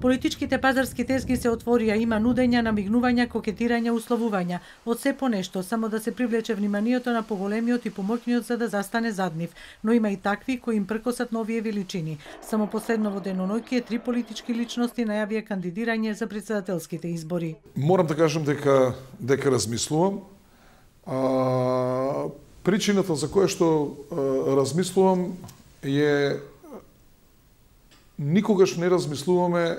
Политичките пазарски тезги се отворија, има нудења, намигнувања, кокетирања, условувања. Од се по нешто, само да се привлече вниманието на поголемиот и помоќниот за да застане зад нив. Но има и такви кои им пркосат новие величини. Само последно во деноноќие 3 политички личности најавија кандидирање за претседателските избори. Морам да кажам дека размислувам. Причината за која што размислувам е никогаш не размислуваме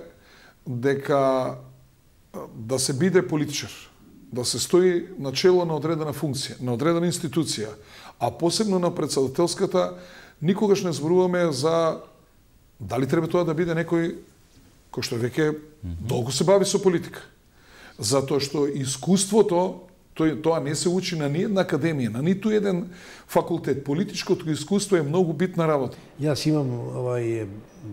дека да се биде политичар, да се стои на чело на одредена функција, на одредена институција, а посебно на претседателската, никогаш не зборуваме за дали треба тоа да биде некој кој што веќе долго се бави со политика. Затоа што искуството тоа не се учи на ниедна академија, на ниту еден факултет. Политичкото искуство е многу битна работа. Јас имам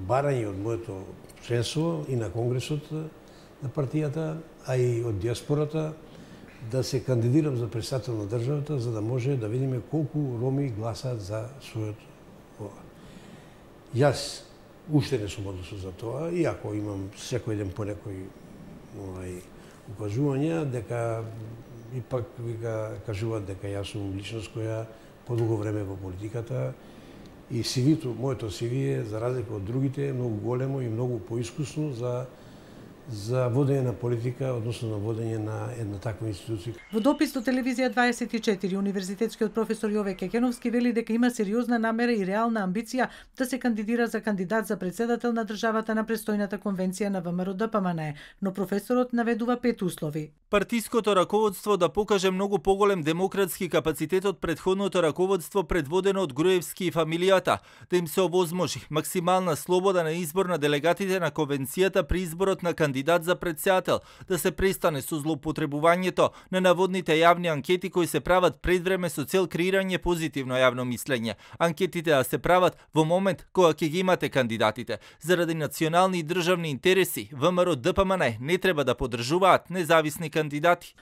барање од моето членство и на Конгресот на партијата, а и од диаспората, да се кандидирам за претседател на државата, за да може да видиме колку роми гласаат за својот. Јас уште не сум одлучен за тоа, иако имам секој ден по некои укажувања, дека ипак кажуваат дека јас сум личност која подолго време во политиката и CV-то, моето CV е, за разлика од другите, многу големо и многу поискусно за водење на политика, односно на водење на една таква институција. Во допис до телевизија 24, универзитетскиот професор Јове Кекеновски вели дека има сериозна намера и реална амбиција да се кандидира за кандидат за претседател на државата на престојната конвенција на ВМРО-ДПМНЕ, но професорот наведува 5 услови. Партиското раководство да покаже многу поголем демократски капацитет од претходното раководство предводено од Груевски и фамилијата, да им се овозможи максимална слобода на избор на делегатите на конвенцијата при изборот на кандидат за претседател, да се престане со злоупотребувањето на наводните јавни анкети кои се прават пред време со цел креирање позитивно јавно мислење. Анкетите да се прават во момент кога ќе ги имате кандидатите. Заради национални и државни интереси, ВМРО-ДПМНЕ не треба да поддржуваат независни кандидати.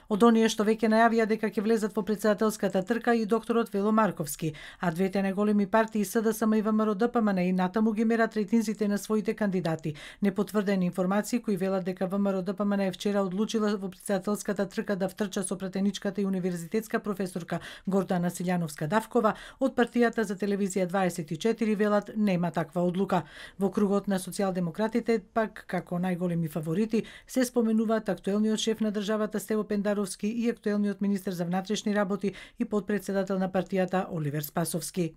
Од оние што веќе најавија дека ќе влезат во претседателската трка и докторот Вело Марковски, а двете најголеми партии СДСМ и ВМРО-ДПМНЕ и натаму ги мерат рейтинзите на своите кандидати. Непотврдени информации кои велат дека ВМРО-ДПМНЕ вчера одлучила во претседателската трка да втрча со пратеничката и универзитетска професорка Гордана Силјановска-Давкова, од партијата за телевизија 24 велат нема таква одлука. Во кругот на социјалдемократите пак како најголеми фаворити се споменуваат актуелниот шеф на државата Стево Пендаровски и актуелниот министер за внатрешни работи и потпредседател на партијата Оливер Спасовски.